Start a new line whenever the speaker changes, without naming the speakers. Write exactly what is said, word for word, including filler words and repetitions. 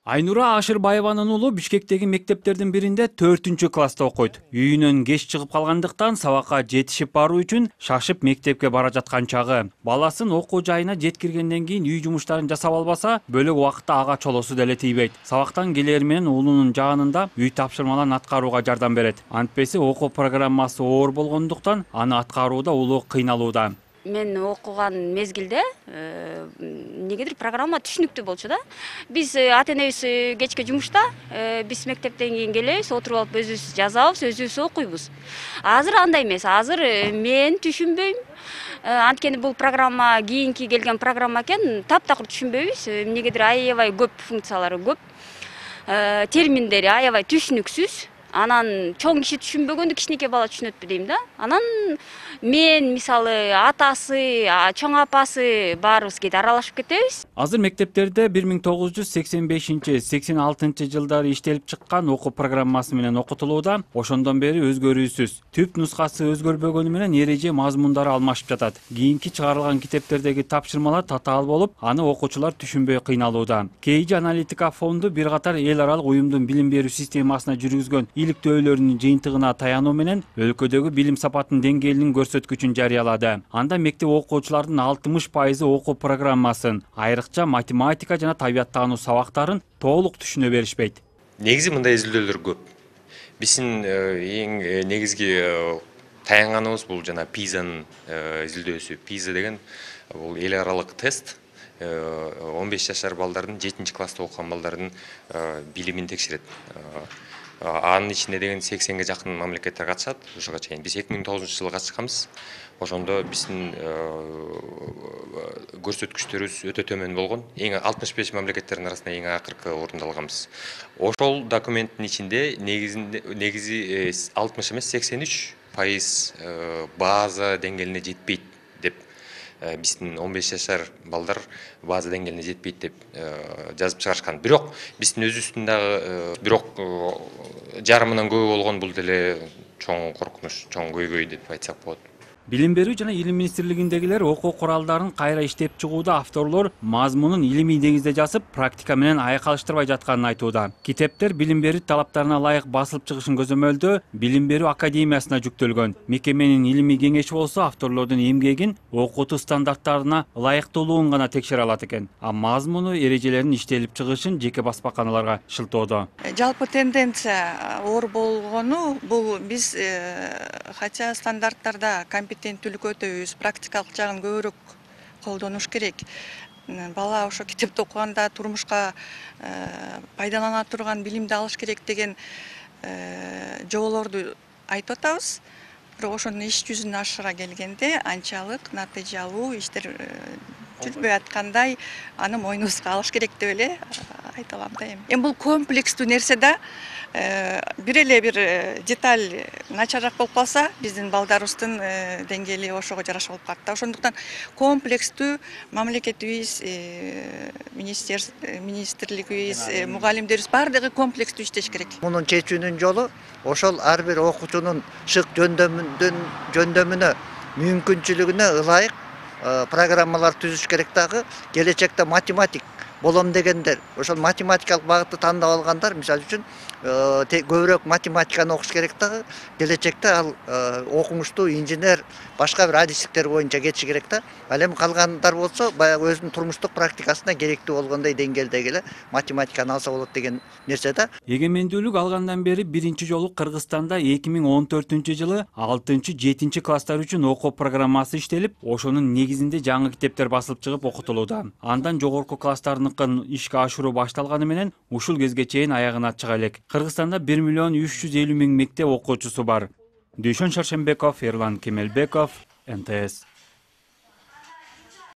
Айнура Ашырбаеванын уулу Бишкектеги мектептердин биринде төртүнчү класста окуйт. Үйүнөн кеч чыгып калгандыктан сабакка жетишип баруу үчүн шашып мектепке бара жаткан чагы. Баласын окуу жайына жеткиргенден кийин үй жумуштарын жасап албаса, бөлөк убакытта ага чолосу деле тийбейт. Сабактан келери менен уулунун жаанында үй тапшырмаларын аткарууга жардам берет. Антпеси окуу программасы оор болгондуктан аны аткарууда уулу кыйналууда.
Мен окуган мезгилде эмнегедир программа түшүнүктүү болчу да. Биз ата-энебиз кечке жумушта, биз мектептен кийин келебиз, отуруп алып өзүбүз жазабыз, өзүбүз окуйбуз. Азыр андай эмес. Азыр мен түшүнбөйм. Анткени бул программа кийинки келген программа экен, таптакыр түшүнбөйбүз. Эмнегедир аябай көп функциялары көп. Терминдери аябай түшүнүксүз. Анан чоң киши түшүнбөгөндү кичинекей бала түшүнөтпү дейм да. Анан мен мисалы атасы, чоң апасы баарыбыз кээде аралашып кетебиз.
Азыр мектептерде бир миң тогуз жүз сексен бешинчи — сексен алтынчы жылдары иштелип чыккан окуу программасы менен окутулууда. Ошондон бери өзгөрүүсүз. Түп нускасы өзгөрбөгөнү менен эреже мазмундары алмашып жатат. Кийинки чыгарылган китептердеги тапшырмалар татаал болуп, аны окуучулар түшүнбөй кыйналууда. Кейджи аналитика фонду бир катар эл аралык уюмдун билим берүү системасына жүргүзгөн иликтөөлөрүнүн жыйынтыгына таянуу менен өлкөдөгү билим сапатынын деңгээлинин көрсөткүчүн жарыялады. Анда мектеп окуучуларынын алтымыш пайызы окуу программасын, айрыкча математика жана табияттануу сабактарын толук түшүнө беришпейт.
Негизи мындай изилдөөлөр көп. Биздин эң негизги таянганыбыз бул жана пизанын изилдөөсү. Пиза деген бул эл аралык тест. он беш жашар балдардын, жетинчи класста окуган балдардын билимин текшерет. Анын ичинде деген сексенге жакын мамлекеттер катышат ушуга чейин. Биз эки миң тогузунчу жылы катышканбыз. Ошондо биздин көрсөткүчтөрүбүз өтө төмөн болгон. Эң алтымыш беш мамлекеттердин арасында эң акыркы орунду алганбыз. Ошол документтин ичинде негизинде негизи алтымыш эмес сексен үч пайыз база деңгээлине жетпейт деп, биздин он беш жашар балдар база деңгээлине жетпейт деп жазып чыгарышкан. Бирок биздин өзүбүздүн дагы бирок жарымынан көбү болгон бул деле чоң коркунуч, чоң көйгөй деп айтсак болот.
Билим берүү жана илим министрлигиндегилер окуу куралдарын кайра иштеп чыгууда авторлор мазмунун илимий негизде жазып, практика менен айкалыштырбай жатканын айтууда. Китептер билим берүү талаптарына ылайык басылып чыгышын көзөмөлдөө Билим берүү академиясына жүктөлгөн. Мекеменин илимий кеңеши болсо авторлордун эмгегин, окутуу стандарттарына ылайыктуулугун гана текшере алат экен. А мазмуну, эрежелерин иштелип чыгышын жеке баспаканаларга шылтоодо.
Жалпы тенденция оор болгону бул биз хотя стандарттарда компетенттүүлүк өтөбүз, практикалык жагын көбүрөөк колдонуш керек. Бала ошо китепти окуганда турмушка пайдалана турган билимди алыш керек деген жоболорду айтып атабыз. Бирок ошонун иш жүзүнө ашыра келгенде анчалык натыйжалуу иштер жүрбөй аткандай аны мойнубузга алыш керек деп эле айта алам да эми. Эми бул комплекстүү нерсе да. Бир эле бир деталь начарыраак болуп калса, биздин балдарыбыздын деңгээли ошого жараша болуп калат да. Ошондуктан комплекстүү мамлекетибиз, министрлигибиз, мугалимдерибиз баардыгы комплекстүү иштеш керек.
Мунун чечүүнүн жолу ошол ар бир окуучунун шык жөндөмүнө, мүмкүнчүлүгүнө ылайык программалар түзүш керек дагы. Келечекте математик болом дегендер, ошол математикалык багытты тандап алгандар, мисалы үчүн көбүрөөк математиканы окуш керек дагы. Келечекте ал окумуштуу инженер, башка бир адистиктер боюнча кетиши керек да. Ал эми калгандар болсо, баягы өзүнүн турмуштук практикасына керектүү болгондой деңгээлдеги эле математиканы алса болот деген нерсе да.
Эгемендүүлүк алгандан бери биринчи жолу Кыргызстанда эки миң он төртүнчү жылы алтынчы — жетинчи класстар үчүн окуу программасы иштелип, ошонун негизинде жаңы китептер басылып чыгып окутулууда. Андан жогорку класстардыкын ишке ашыруу башталганы менен ушул кезге чейин аягына чыга элек. Кыргызстанда бир миллион үч жүз элүү миң мектеп окуучусу бар. Дүйшөн Шаршембеков, Эрлан Кемелбеков, эн тэ эс.